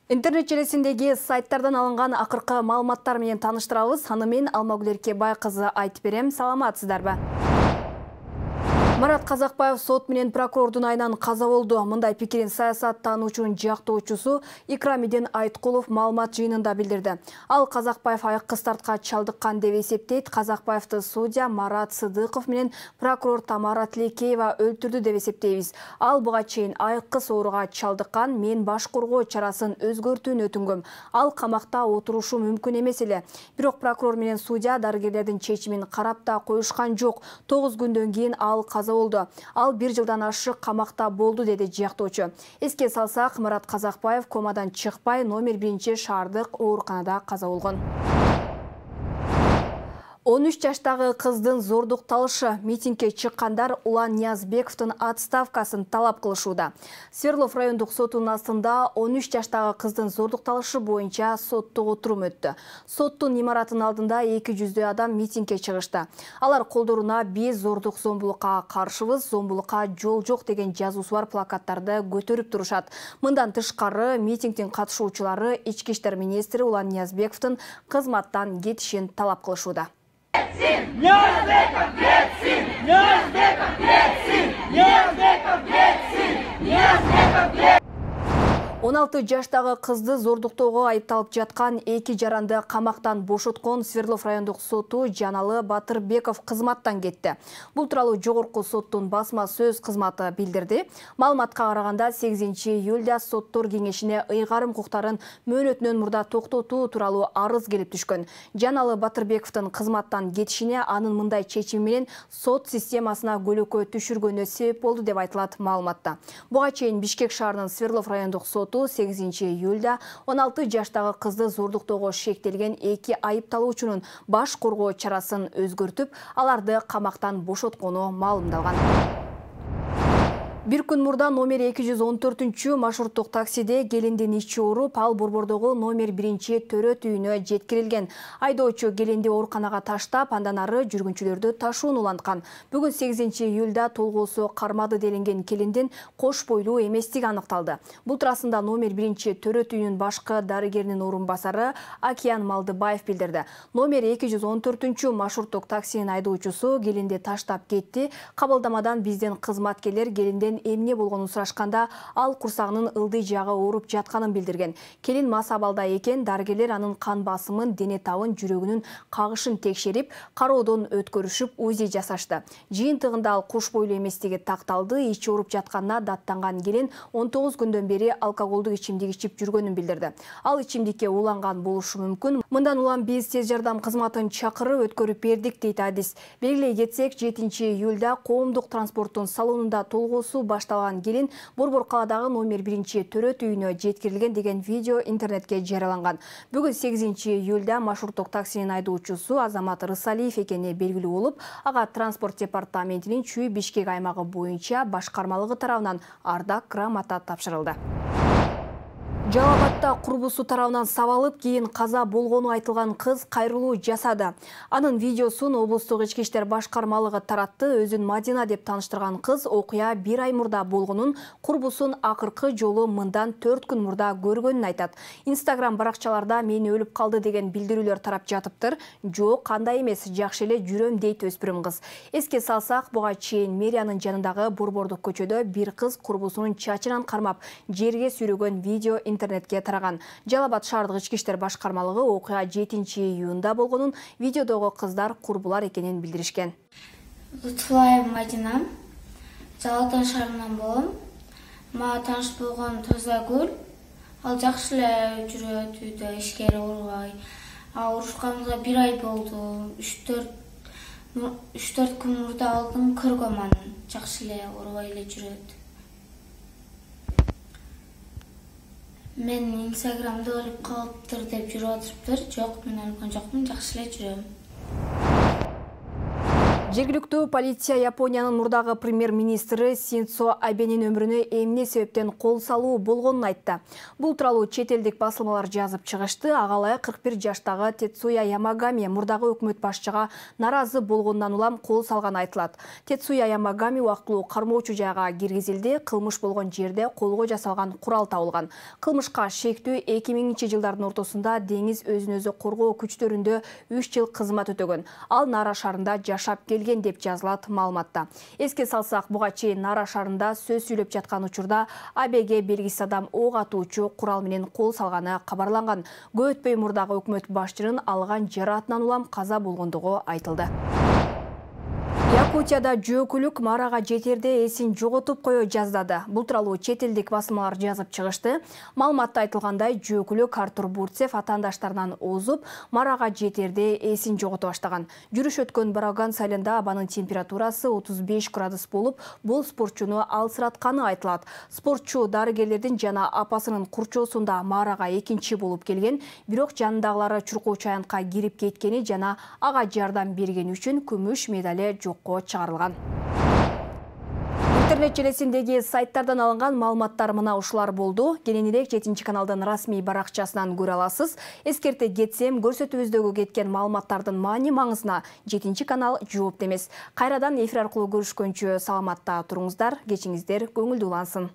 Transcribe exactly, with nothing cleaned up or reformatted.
Интернет желесиндеги сайттардан алынган акыркы маалыматтар менен таныштырабыз. Аны мен Алмагүл Эркебай кызы айтып берем. Саламатсыздарбы? Марат Казакбаев сот менен прокурордун айынан каза болду. Мындай пикирин саясаттануучунун жактоочусу Икрамидин Айткулов маалымат жыйынында билдирди. Ал Казакбаев айыккы стартка чалдыккан деп эсептейт. Казакбаевди судья Марат Сыдыков менен прокурор Тамара Тилекеева өлтүрдү деп эсептейбиз. Ал буга чейин айыккы сооруга чалдыккан, мен баш коргоо чарасын өзгөртүүнү өтүнгөм. Ал камакта отурушу мүмкүн эмес эле. Бирок прокурор менен судья дарыгерлердин чечимин карап да коюшкан жок. тогуз күндөн кийин ал каза болду. Ал бир жылдан ашык камакта болду, деди жактоочу. Эске салсак, Марат Казакбаев комадан чыкпай номер биринчи шаардык ооруканада каза болгон. он үч жаштагы кыздын зордукталышы. Митингге чыккандар Улан Ниязбековдун отставкасын талап кылышууда. Свердлов райондук сотунун астында он үч жаштагы кыздын зордукталышы боюнча соттук отурум өттү. Соттун имаратынын алдында эки жүздөй адам митингге чыгышты. Алар колдоруна «Биз зордук зомбулукка каршыбыз, зомбулукка жол жок» деген жазуусу бар плакаттарды көтөрүп турушат. Мындан тышкары митингдин катышуучулары ички иштер министри Улан Ниязбековдун кызматтан кетишин талап кылышууда. Ниязбеков кетсин! Ниязбеков кетсин! Ниязбеков кетсин! Ниязбеков кетсин! он алты жаштагы кызды зордуктоого айыпталып жаткан эки жаранды камактан бошоткон Свердлов райондук соту Жаналы Батырбеков кызматтан кетти. Бул тууралуу жогорку соттун басма сөз кызматы билдирди. Маалыматка караганда сегизинчи июлда соттор кеңешине ыйгарым укуктарын мөөнөтүнөн мурда токтотуу тууралуу арыз келип түшкөн. Жаналы Батырбековдун кызматтан кетишине анын мындай чечими менен сот системасына көлөкө түшүргөнү себеп болду деп айтылат маалыматта. Буга чейин Бишкек шаарынын Свердлов райондук соту сегизинчи июлда он алты жаштагы кызды зордуктоого шектелген эки айыпталуучунун баш коргоо чарасын өзгөртүп, аларды камактан бошоткону маалымдалган. Бир күн мурда номер эки жүз он төртүнчү маршруттук таксиде келиндин ичи ооруп, ал Борбордогу номер биринчи төрөт үйүнө жеткирилген. Айдоочу келинди ооруканага таштап, андан ары жүргүнчүлөрдү ташууну уланткан. Бүгүн сегизинчи июлда толгоосу кармады делинген келиндин кош бойлуу эместиги аныкталды. Бул туурасында номер биринчи төрөт үйүнүн башкы дарыгеринин орун басары Акиян Малдыбаев билдирди. Номер эки жүз он төртүнчү маршруттук таксинин айдоочусу келинди таштап кетти. Кабылдамадан биздин кызматкерлер келинден эмне болгонун сурашканда, ал курсагынын ылдый жагы ооруп жатканын билдирген. Келин мас абалда экен, дарыгерлер анын кан басымын, дене табын, жүрөгүнүн кагышын текшерип, кароодон өткөрүшүп, УЗИ жасашты. Жыйынтыгында ал кош бойлуу эместиги такталды. Ичи ооруп жатканына даттанган келин он тогуз күндөн бери алкоголдук ичимдик ичип жүргөнүн билдирди. Ал ичимдикке уланган болушу мүмкүн. Мындан улам биз тез жардам кызматын чакырып өткөрүп бердик, дейт адис. Белгилей кетсек, жетинчи июлда коомдук транспорттун салонунда толгоосу башталган келин Борбор каладагы номер биринчи төрөт үйүнө жеткирилген деген видео интернетке жарыяланган. Бүгүн сегизинчи июлда маршруттук таксинин айдоочусу Азамат Рысалиев экени белгилүү болуп, ага транспорт департаментинин Чүй Бишкек аймагы боюнча башкармалыгы тарабынан ардак грамота тапшырылды. Жалал Абадта курбусу тарабынан сабалып, кийин каза болгону айтылган кыз кайрылуу жасады. Анын видеосун облустук ички иштер башкармалыгы таратты. Өзүн Мадина деп тааныштырган кыз окуя бир ай мурда болгонун, курбусун акыркы жолу мындан төрт күн мурда көргөнүн айтат. Инстаграм баракчаларда мени өлүп калды деген билдирүүлөр тарап жатыптыр. Жок, кандай эмес, жакшы эле жүрөм, дейт өспүрүм кыз. Эске салсак, буга чейин мэриянын жанындагы Борбордук көчөдө бир кыз курбусунун чачынан кармап, жерге сүйрөгөн видео интернетке тараган. Жалал Абад шаардык ички иштер башкармалыгы окуя жетинчи июнда болгонун, видеодогу кыздар курбулар экенин билдиришкен. Лутфулаева Мадина, Жалал Абад шаарынан болом. Мага тааныш болгон Тозагүл. Ал жакшы эле жүрөт, үйдө ишкер, оорубай. Урушканыбызга бир ай болду. үч төрт күн мурда алдым, көргөм аны. Жакшы эле оорубай эле жүрөт. Мен Инстаграмда өлүп калыптыр деп жүрүп атышыптыр. Жок, мен өлгөн жокмун, жакшы эле жүрөм. Жергиликтүү полиция Япониянын мурдагы премьер-министри Синдзо Абенин өмүрүнө эмне себептен кол салуу болгонун айтты. Бул тууралуу чет элдик басылмалар жазып чыгышты. Ага ылайык кырк бир жаштагы Тецуя Ямагами мурдагы өкмөт башчыга наразы болгондон улам кол салганы айтылат. Тецуя Ямагами убактылуу кармоочу жайга киргизилди. Кылмыш болгон жерде колго жасалган курал табылган. Кылмышка шектүү эки миңинчи жылдардын ортосунда деңиз өзүн өзү коргоо күчтөрүндө үч жыл кызмат өтөгөн. Ал Нара шаарында жашап келген деп жазылат маалыматта. Эске салсак, буга чейин Нара шаарында сөз сүйлөп жаткан учурда Абеге белгисиз адам ок атуучу курал менен кол салганы кабарланган. Көп өтпөй мурдагы өкмөт башчынын алган жараатынан улам каза болгондугу айтылды. Якутияда жөөкүлүк марага жетерде эсин жоготуп кое жаздады. Бул тууралуу чет элдик басылмалар жазып чыгышты. Маалыматта айтылгандай, жөөкүлүк Артур Бурцев атаандаштарынан озуп, марага жетерде эсин жогото баштаган. Жүрүш өткөн Бараган айылында абанын температурасы отуз беш градус болуп, бул спортчуну алсыратканы айтылат. Спортчу дарыгерлердин жана апасынын курчоосунда марага экинчи болуп келген, бирок жанындагылары чуркоочу аянтка кирип кеткени жана ага жардам бергени үчүн күмүш медали жокко чыгарылган. Интернет желесиндеги сайттардан алынган маалыматтар мына ушулар болду. Кененирээк жетинчи каналдын расмий баракчасынан көрө аласыз. Эскерте кетсем, көрсөтүүбүздөгү кеткен маалыматтардын маани маңызына жетинчи канал жоопту эмес. Кайрадан эфир аркылуу көрүшкөнчө саламатта туруңуздар, кечиңиздер көңүлдүү улансын.